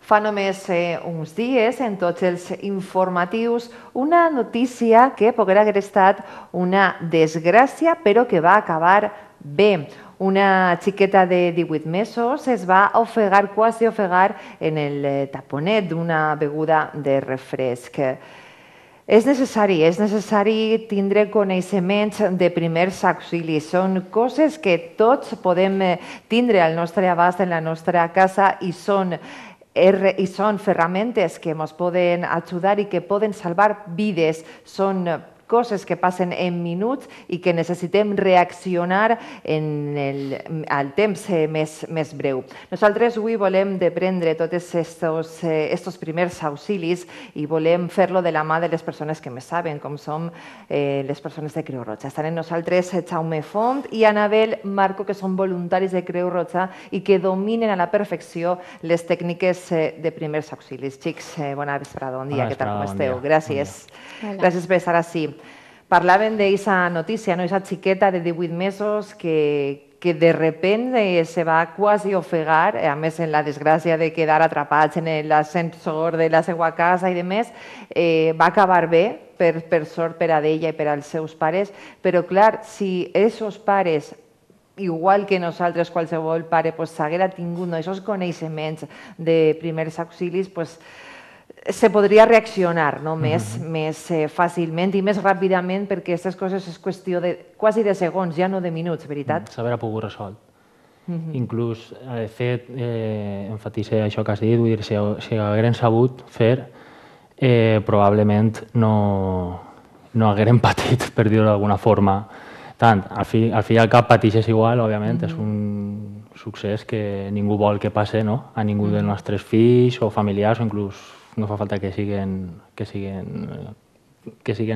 Fa només uns dies, en tots els informatius, una notícia que poguera haver estat una desgràcia, però que va acabar bé. Una xiqueta de 18 mesos es va ofegar, quasi ofegar, en el taponet d'una beguda de refresc. És necessari tindre coneixements de primers auxilis. Són coses que tots podem tindre al nostre abast en la nostra casa i són ferramentes que ens poden ajudar i que poden salvar vides. Són coses que passen en minuts i que necessitem reaccionar al temps més breu. Nosaltres avui volem prendre tots aquests primers auxilis i volem fer-lo de la mà de les persones que més saben, com som les persones de Creu Roja. Estan amb nosaltres Jaume Font i Anabel Marco, que són voluntaris de Creu Roja i que dominen a la perfecció les tècniques de primers auxilis. Xics, bona vesprada, bon dia, què tal, com esteu? Gràcies. Gràcies per estar ací. Parlaven d'aquesta notícia, aquesta xiqueta de 18 mesos que de repente se va quasi ofegar, a més en la desgràcia de quedar atrapats en l'ascensor de la seva casa i demés, va acabar bé, per sort per a ella i per als seus pares, però clar, si aquests pares, igual que nosaltres, qualsevol pare, s'haguera tingut aquests coneixements de primers auxilis, se podria reaccionar més fàcilment i més ràpidament, perquè aquestes coses és qüestió quasi de segons, ja no de minuts, veritat? S'haurà pogut resolt. Inclús, de fet, emfatitza això que has dit, vull dir, si hagueren sabut fer, probablement no hagueren patit, per dir-ho d'alguna forma. Tant, al fi i al cap patixes igual, òbviament, és un succés que ningú vol que passe a ningú dels nostres fills o familiars, o inclús no fa falta que siguin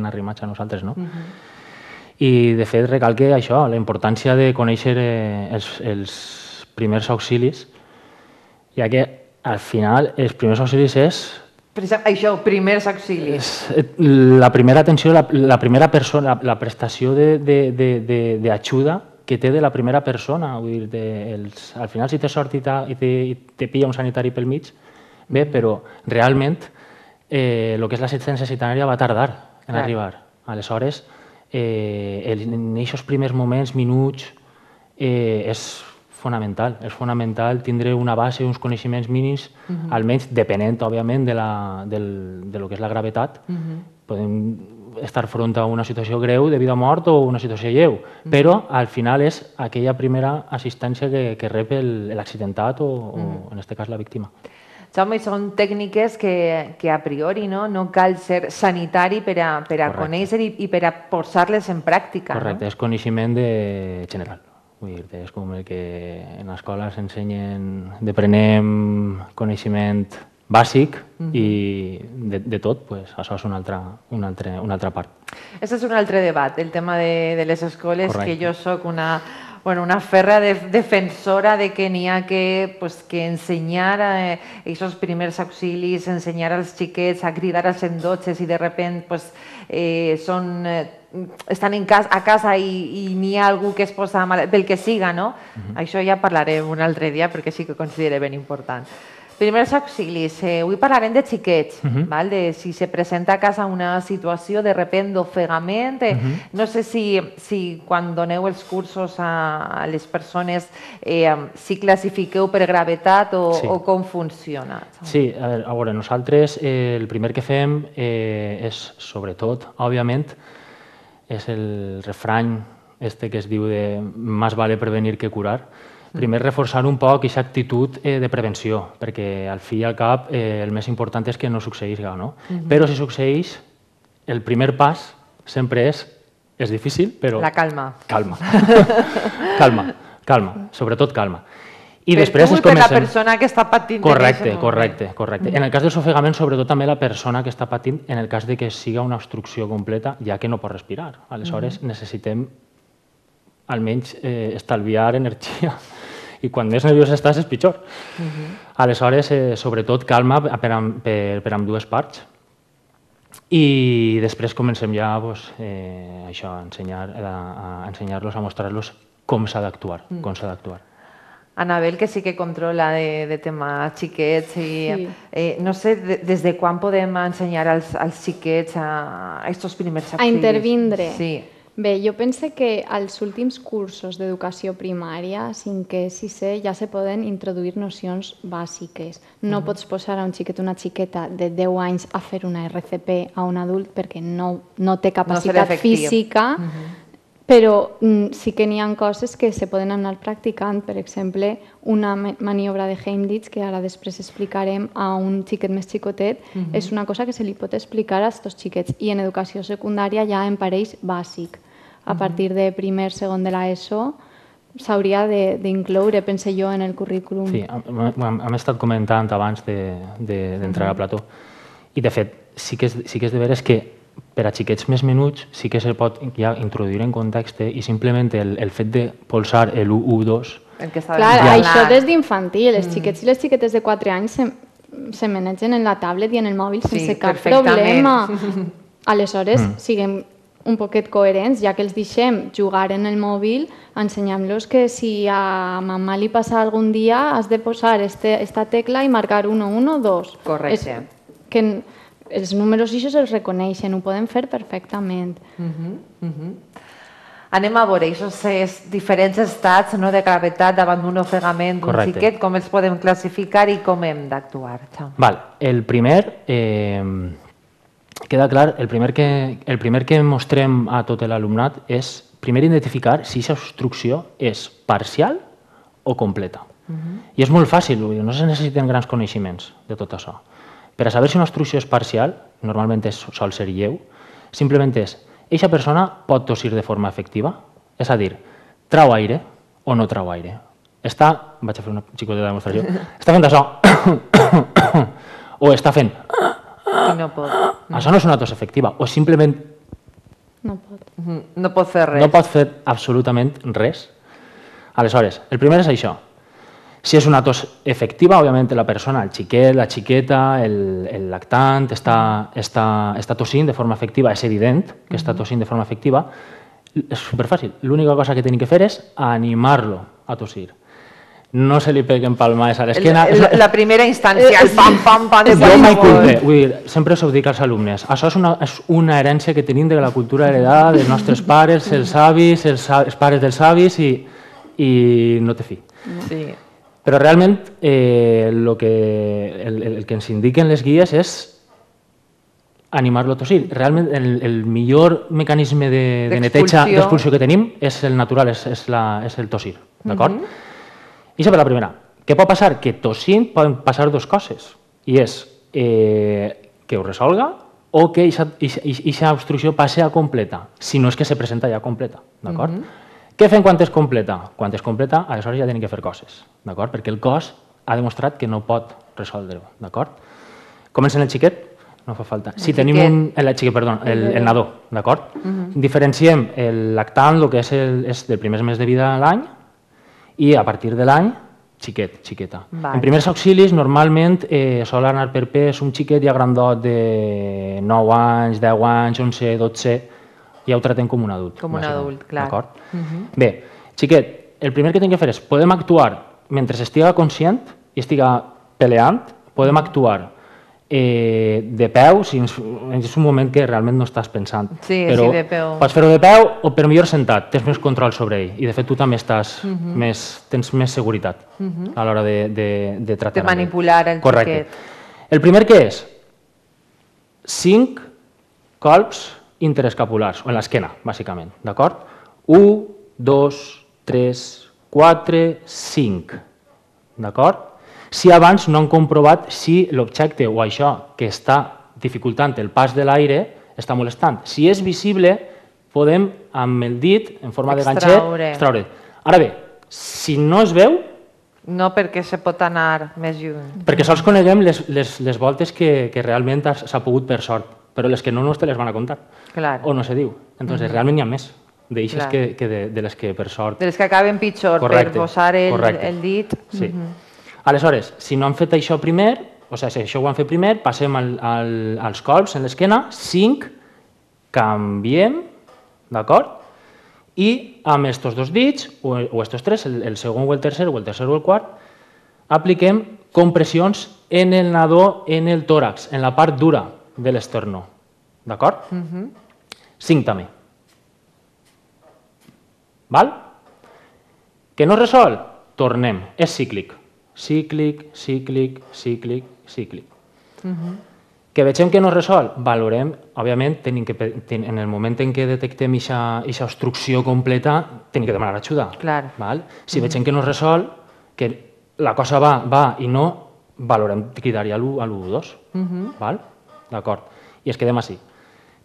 arrimats a nosaltres, no? I, de fet, recalque això, la importància de conèixer els primers auxilis, ja que, al final, els primers auxilis és... Això, primers auxilis. La primera atenció, la primera persona, la prestació d'ajuda que té de la primera persona. Vull dir, al final, si té sort i te pilla un sanitari pel mig, bé, però realment el que és l'assistència sanitària va tardar en arribar. Aleshores, en aquests primers moments, minuts, és fonamental. És fonamental tindre una base, uns coneixements mínims, almenys depenent, òbviament, de lo que és la gravetat. Podem estar front a una situació greu de vida o mort o una situació lleu, però al final és aquella primera assistència que rep l'accidentat o, en aquest cas, la víctima. Jaume, són tècniques que a priori no cal ser sanitari per a conèixer i per a posar-les en pràctica. Correcte, és coneixement general. Vull dir, és com el que en l'escola s'ensenyen, deprenem coneixement bàsic i de tot, això és una altra part. Aquest és un altre debat, el tema de les escoles, que jo soc una ferra defensora de que n'hi ha que ensenyar aquests primers auxilis, ensenyar als xiquets a cridar als 112 i de sobte estan a casa i n'hi ha algú que es posa mal, pel que siga, no? Això ja parlarem un altre dia perquè sí que considero ben important. Primers auxilis, avui parlarem de xiquets, de si se presenta a casa una situació de sobte d'ofegament. No sé si quan doneu els cursos a les persones si classifiqueu per gravetat o com funciona. Sí, a veure, nosaltres el primer que fem és, sobretot, òbviament, és el refrany que es diu de más vale prevenir que curar. Primer, reforçar un poc aquesta actitud de prevenció, perquè al fi i al cap el més important és que no succeïsca, no? Però si succeeix, el primer pas sempre és difícil, però... La calma. Calma. Calma, sobretot calma. I després per la persona que està patint. Correcte. En el cas dels ofegaments, sobretot també la persona que està patint, en el cas de que siga una obstrucció completa, ja que no pot respirar. Aleshores, necessitem almenys estalviar energia i quan més nerviós estàs és pitjor. Aleshores, sobretot calma per ambdues parts i després comencem ja a ensenyar-los, a mostrar-los com s'ha d'actuar. Anabel, que sí que controla de tema xiquets i no sé des de quan podem ensenyar als xiquets a aquests primers auxilis. A intervindre. Sí. Bé, jo pense que als últims cursos d'educació primària, 5è, 6è, ja se poden introduir nocions bàsiques. No pots posar a un xiquet o una xiqueta de 10 anys a fer una RCP a un adult perquè no té capacitat física, però sí que n'hi ha coses que se poden anar practicant. Per exemple, una maniobra de Heimlich, que ara després explicarem a un xiquet més xicotet, és una cosa que se li pot explicar a aquests xiquets. I en educació secundària ja en pareix bàsic. A partir de primer, segon de l'ESO, s'hauria d'incloure, pense jo, en el currículum. Sí, hem estat comentant abans d'entrar a plató. I, de fet, sí que és de veres que per a xiquets més menuts sí que se pot ja introduir en context i simplement el fet de polsar l'1, 2... Clar, això des d'infantil. Els xiquets i les xiquetes de 4 anys se manegen en la tablet i en el mòbil sense cap problema. Aleshores, siguem un poquet coherents, ja que els deixem jugar en el mòbil, ensenyem-los que si a mamà li passa algun dia has de posar esta tecla i marcar 1, 1, 2. Correcte. Que els números ixos els reconeixen, ho poden fer perfectament. Anem a veure aquests diferents estats de gravetat davant d'un ofegament d'un xiquet, com els podem classificar i com hem d'actuar. El primer, queda clar, el primer que mostrem a tot l'alumnat és primer identificar si aquesta obstrucció és parcial o completa. I és molt fàcil, no se necessiten grans coneixements de tot això. Per a saber si una obstrucció és parcial, normalment sol ser lleu, simplement és, eixa persona pot tossir de forma efectiva? És a dir, trau aire o no trau aire? Vaig a fer una xicoteta demostració. Està fent això o està fent... I no pot. Això no és una tos efectiva, o simplement... No pot. No pot fer res. No pot fer absolutament res. Aleshores, el primer és això. Si és una tos efectiva, òbviament la persona, el xiquet, la xiqueta, el lactant, està tossint de forma efectiva, és evident que està tossint de forma efectiva, és superfàcil. L'única cosa que tenim que fer és animar-lo a tossir. No se li peguen palmades a l'esquena. La primera instància, el pam-pam de qualsevol. Sempre us ho dic als alumnes, això és una herència que tenim de la cultura heredada dels nostres pares, els avis, els pares dels avis, i no té fi. Sí. Però realment el que ens indiquen les guies és animar-lo a tossir. Realment el millor mecanisme de neteja, d'expulsió que tenim és el natural, és el tossir. D'acord? I això per la primera. Què pot passar? Que tossint poden passar dues coses. I és que ho resolga o que aquesta obstrucció passi a completa, si no és que se presenta ja completa. D'acord? Què fem quan és completa? Quan és completa, aleshores ja tenim que fer coses, d'acord? Perquè el cos ha demostrat que no pot resoldre-ho, d'acord? Comencem el xiquet, no fa falta. Si tenim el nadó, d'acord? Diferenciem el lactant, el que és del primer mes de vida a l'any, i a partir de l'any, xiquet, xiqueta. En primers auxilis, normalment sol anar per pes un xiquet ja grandot de 9 anys, 10 anys, 11, 12, ja ho tratem com un adult. Com un adult, clar. Bé, xiquet, el primer que hem de fer és, podem actuar mentre estiga conscient i estiga peleant, podem actuar de peu, si és un moment que realment no estàs pensant. Sí, de peu. Pots fer-ho de peu o per millor sentat, tens més control sobre ell i de fet tu també tens més seguretat a l'hora de tractar. De manipular el xiquet. Correcte. El primer que és 5 colps interescapulars, o en l'esquena, bàsicament, d'acord? 1, 2, 3, 4, 5, d'acord? Si abans no han comprovat si l'objecte o això que està dificultant el pas de l'aire està molestant. Si és visible, podem amb el dit, en forma de ganxet, extraure. Ara bé, si no es veu... No, perquè se pot anar més lluny. Perquè sols coneguem les voltes que realment s'ha pogut per sort, però les que no te les van a contar. O no se diu. Entonces, realment n'hi ha més d'eixes que de les que per sort... De les que acaben pitjor per posar el dit. Sí. Aleshores, si no han fet això primer, o sigui, si això ho han fet primer, passem als colps en l'esquena, 5, canviem, d'acord? i amb estos dos dits, o estos tres, el segon o el tercer o el quart, apliquem compressions en el nadó, en el tòrax, en la part dura de l'esternó. D'acord? 5 també. Val? Que no es resol? Tornem. És cíclic. Cíclic, cíclic, cíclic, cíclic. Que vegem que no es resol? Valorem, òbviament, en el moment en què detectem aquesta obstrucció completa, tenim que demanar ajuda. Clar. Si vegem que no es resol, que la cosa va i no, valorem cridar-hi a l'1-2. D'acord? I es quedem així.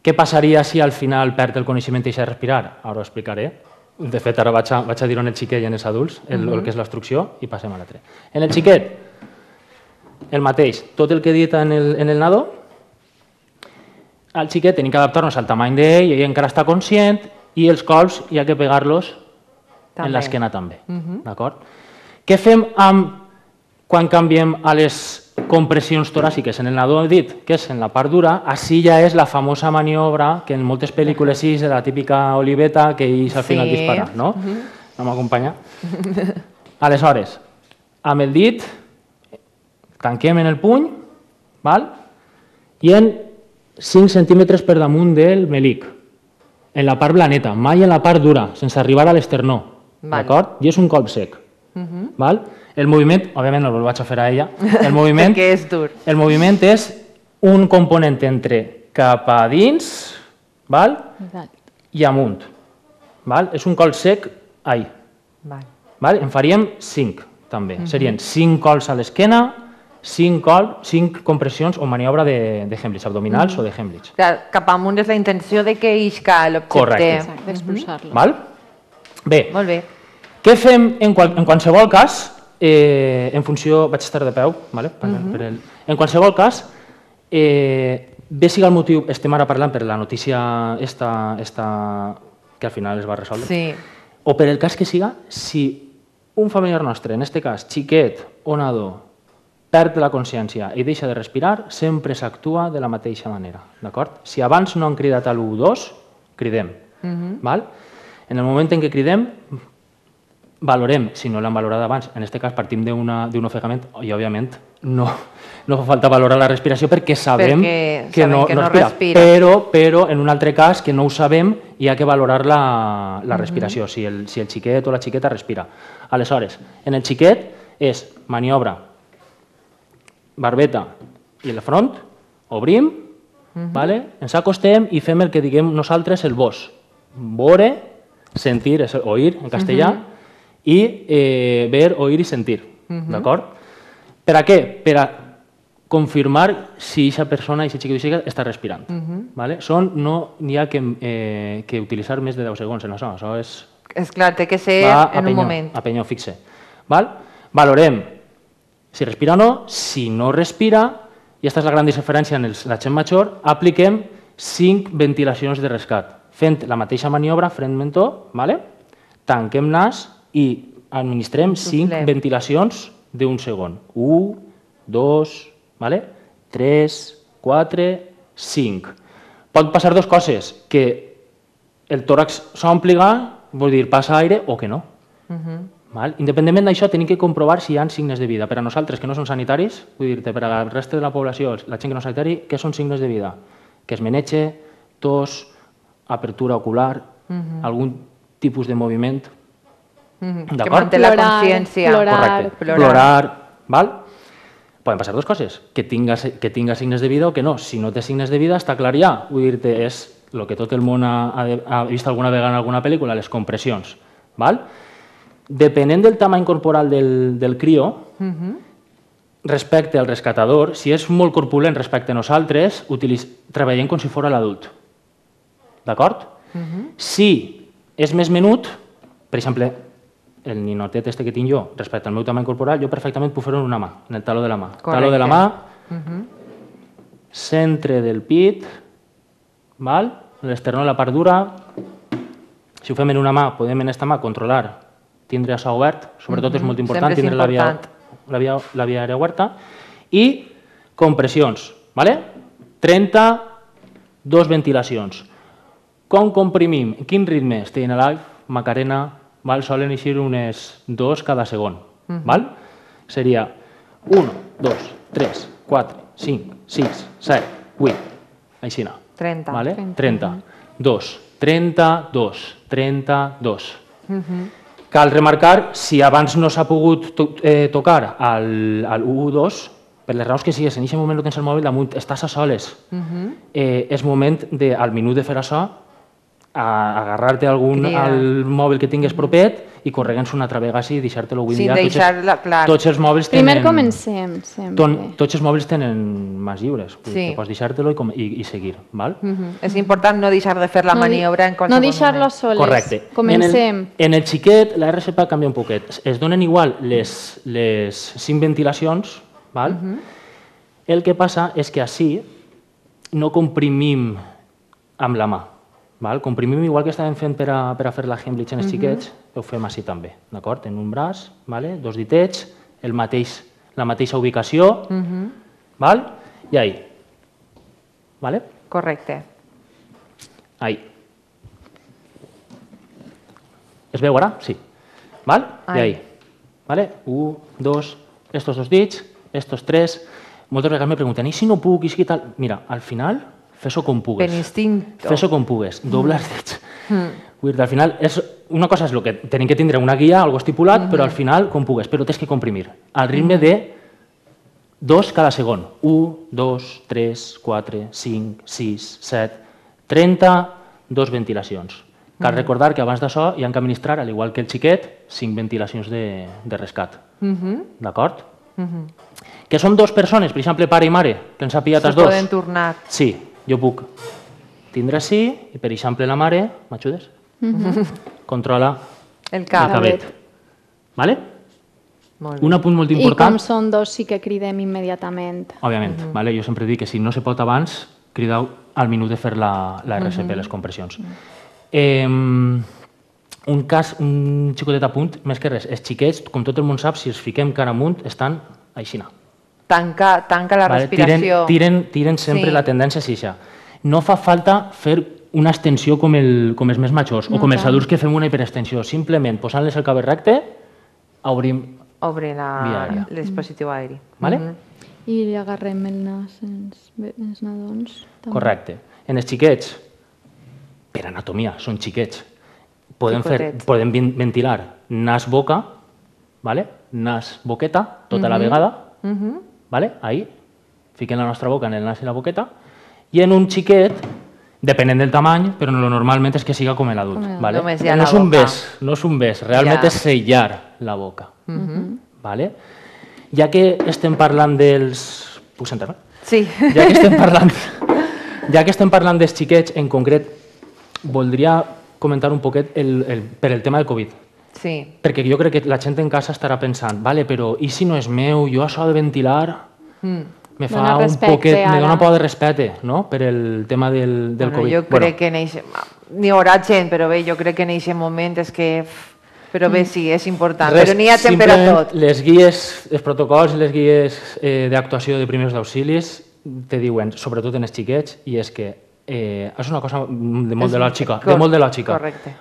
Què passaria si al final perd el coneixement i deixa de respirar? Ara ho explicaré. De fet, ara vaig a dir-ho en el xiquet i en els adults, el que és l'obstrucció, i passem a l'altre. En el xiquet, el mateix. Tot el que he dit en el nadó, al xiquet tenim que adaptar-nos al tamany d'ell, ell encara està conscient, i els colps hi ha que pegar-los en l'esquena també. D'acord? Què fem quan canviem a les compressions toràciques? En el nadó he dit que és en la part dura, així ja és la famosa maniobra que en moltes pel·lícules és la típica oliveta que ells al final dispara, no? No m'acompanya? Aleshores, amb el dit tanquem en el puny i en 5 centímetres per damunt del melic, en la part blaneta, mai en la part dura, sense arribar a l'esternó, d'acord? I és un colp sec. El moviment, òbviament no el vaig a fer a ella, el moviment és un component entre cap a dins i amunt. És un colp sec ahí. En faríem 5 també. Serien 5 colps a l'esquena, 5 compressions o maniobra de Heimlich, abdominals o de Heimlich. Cap amunt és la intenció de que isca l'objecte. Correcte. D'expulsar-lo. Bé, molt bé. Què fem en qualsevol cas? En funció... Vaig estar de peu. En qualsevol cas, bé siga el motiu, estem ara parlant per la notícia esta que al final es va resoldre, o per el cas que siga, si un familiar nostre, en aquest cas xiquet o nadó, perd la consciència i deixa de respirar, sempre s'actua de la mateixa manera. Si abans no han cridat a l'1-2, cridem. En el moment en què cridem, valorem, si no l'han valorat abans, en aquest cas partim d'un ofegament i, òbviament, no fa falta valorar la respiració perquè sabem que no respira. Però, en un altre cas, que no ho sabem, hi ha que valorar la respiració, si el xiquet o la xiqueta respira. Aleshores, en el xiquet és maniobra, barbeta i el front, obrim, ens acostem i fem el que diguem nosaltres el vos. Vore, sentir, és oír en castellà, i ver, oír i sentir. D'acord? Per a què? Per a confirmar si aquesta persona, aquesta xiqueta o xica, està respirant. No n'hi ha que utilitzar més de 10 segons en això. Això és... És clar, té que ser en un moment. A penyó, fixe. Valorem si respira o no. Si no respira, i aquesta és la gran diferència en la gent major, apliquem 5 ventilacions de rescat. Fent la mateixa maniobra, front-mentó, tanquem nas i administrem 5 ventilacions d'un segon. 1, 2, 3, 4, 5. Pot passar dues coses, que el tòrax s'ompliga, vol dir passa aire, o que no. Independentment d'això, tenim que comprovar si hi ha signes de vida. Per a nosaltres, que no som sanitaris, vull dir-te, per a la resta de la població, la gent que no és sanitari, què són signes de vida? Que es menege, tos, apertura ocular, algun tipus de moviment. Que manté la consciència. Plorar. Poden passar dues coses, que tinga signes de vida o que no. Si no té signes de vida, està clar ja. Vull dir-te, és el que tot el món ha vist alguna vegada en alguna pel·lícula, les compressions. Depenent del tamany corporal del crió, respecte al rescatador, si és molt corpulent respecte a nosaltres, treballem com si fos l'adult. D'acord? Si és més menut, per exemple, el ninotet que tinc jo, respecte al meu tamany corporal, jo perfectament puc fer-ho en una mà, en el taló de la mà. Taló de la mà, centre del pit, l'esternó de la part dura. Si ho fem en una mà, podem en aquesta mà controlar, tindre això obert, sobretot és molt important tindre la via aèria oberta, i compressions, 32 ventilacions. Com comprimim? Quin ritme? Staying alive, Macarena, val? Solen eixir unes 2 cada segon. Val? Seria 1, 2, 3, 4, 5, 6, 7, 8, aixina. 30. Vale? 30. 2, 32, 32. Cal remarcar, si abans no s'ha pogut tocar al 1-2, per les raons que sigues, en aquest moment no tens el mòbil damunt, estàs a soles. És moment, al minut de fer això, agarrar-te al mòbil que tingues propet i corregues una altra vegada i deixar-te-lo avui dia. Tots els mòbils tenen... Primer comencem, sempre. Tots els mòbils tenen mans lliures. Pots deixar-te-lo i seguir. És important no deixar de fer la maniobra en qualsevol moment. No deixar-lo soles. Correcte. Comencem. En el xiquet, la RSP canvia un poquet. Es donen igual les 5 ventilacions. El que passa és que així no comprimim amb la mà. Comprimim igual que estàvem fent per a fer la Heimlich en els xiquets, ho fem així també, d'acord? En un braç, 2 ditets, la mateixa ubicació, i ahí. Correcte. Ahí. Es veu ara? Sí. I ahí. 1, 2, estos 2 dits, estos 3. Moltes vegades me pregunten, i si no puc, i si tal? Mira, al final, fes-ho com pugues. Per instinto. Fes-ho com pugues, doble els dits. Vull dir, al final, una cosa és el que tenim que tindre una guia, algo estipulat, però al final, com pugues, però tens que comprimir. Al ritme de 2 cada segon. 1, 2, 3, 4, 5, 6, 7, 30, 2 ventilacions. Cal recordar que abans d'això hi ha que administrar, al igual que el xiquet, 5 ventilacions de rescat. D'acord? Que són 2 persones, per exemple, pare i mare, que ens ha pillat els 2. Se poden tornar. Sí, jo puc tindre així, i per exemple la mare, m'ajudes? Controla el cabet. Vale? Un apunt molt important. I com són 2 sí que cridem immediatament. Òbviament, jo sempre dic que si no se pot abans, crideu al minut de fer la RCP, les compressions. Un xicotet apunt, més que res, els xiquets, com tot el món sap, si els fiquem cara amunt, estan aixina. Tanca la respiració. Tiren sempre la tendència a així. No fa falta fer una extensió com els més majors o com els adults que fem una hiperextensió. Simplement posant-les el cabell recte, obrim el dispositiu aeri. I li agarrem el nas als nadons. Correcte. En els xiquets, per anatomia, són xiquets. Podem ventilar nas-boca, nas-boqueta, tota la vegada. Ahí, fiquem la nostra boca en el nas i la boqueta. I en un xiquet, depenent del tamany, però normalment és que siga com l'adult. No és un bes, realment és sellar la boca. Ja que estem parlant dels... Puc sentar-me? Sí. Ja que estem parlant dels xiquets, en concret, voldria comentar un poquet per el tema del Covid. Sí. Perquè jo crec que la gent en casa estarà pensant, però i si no és meu, jo això de ventilar me fa un poquet, me dona un poc de respecte, no?, per el tema del Covid. Jo crec que n'hi haurà gent, però bé, jo crec que en aquest moment és que... Però bé, sí, és important, però n'hi ha temps per a tot. Les guies, els protocols i les guies d'actuació de primers d'auxilis te diuen, sobretot en els xiquets, i és que és una cosa de molt de lògica.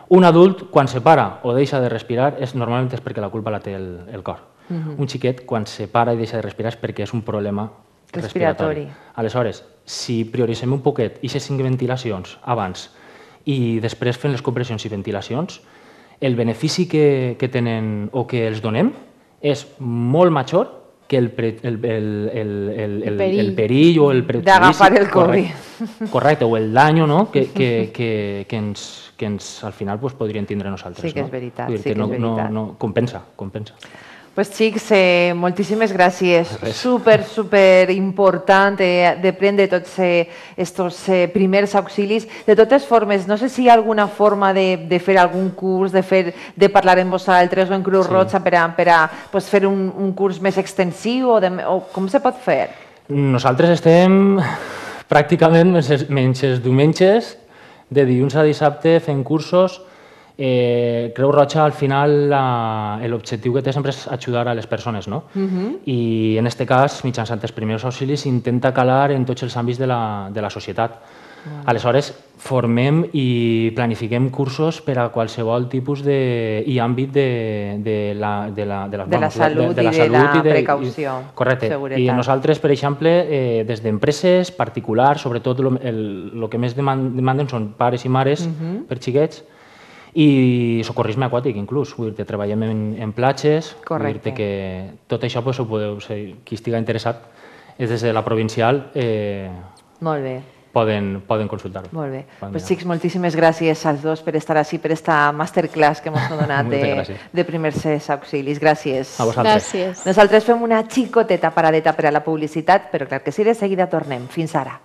Un adult, quan se para o deixa de respirar, normalment és perquè la culpa la té el cor. Un xiquet, quan se para i deixa de respirar, és perquè és un problema respiratori. Aleshores, si prioritzem un poquet aquestes 5 ventilacions abans i després fem les compressions i ventilacions, el benefici que tenen o que els donem és molt major que el perill o el prejudici d'agafar el Covid. Correcte, o el dany que al final podrien tindre nosaltres. Sí que és veritat. Compensa. Pues xics, moltíssimes gràcies. Super important de prendre tots estos primers auxilis. De totes formes, no sé si hi ha alguna forma de fer algun curs, de parlar amb vosaltres o en Creu Roja per a fer un curs més extensiu o com se pot fer? Nosaltres estem pràcticament menys els diumenges, de dilluns a dissabte, fent cursos. Creu Roja, al final, l'objectiu que té sempre és ajudar a les persones, no? I en aquest cas, mitjançant els primers auxilis, intenta calar en tots els àmbits de la societat. Aleshores, formem i planifiquem cursos per a qualsevol tipus i àmbit de la salut i de la precaució. Correcte. I nosaltres, per exemple, des d'empreses particulars, sobretot el que més demanden són pares i mares per xiquets, i socorrisme aquàtic, inclús. Vull dir, treballem en platges. Vull dir que tot això, qui estigui interessat, és des de la provincial, molt bé. Poden consultar-ho. Molt bé. Pues, xics, moltíssimes gràcies als dos per estar així, per esta masterclass que ens heu donat de primers auxilis. Gràcies. A vosaltres. Gràcies. Nosaltres fem una xicoteta paradeta per a la publicitat, però clar que sí, de seguida tornem. Fins ara.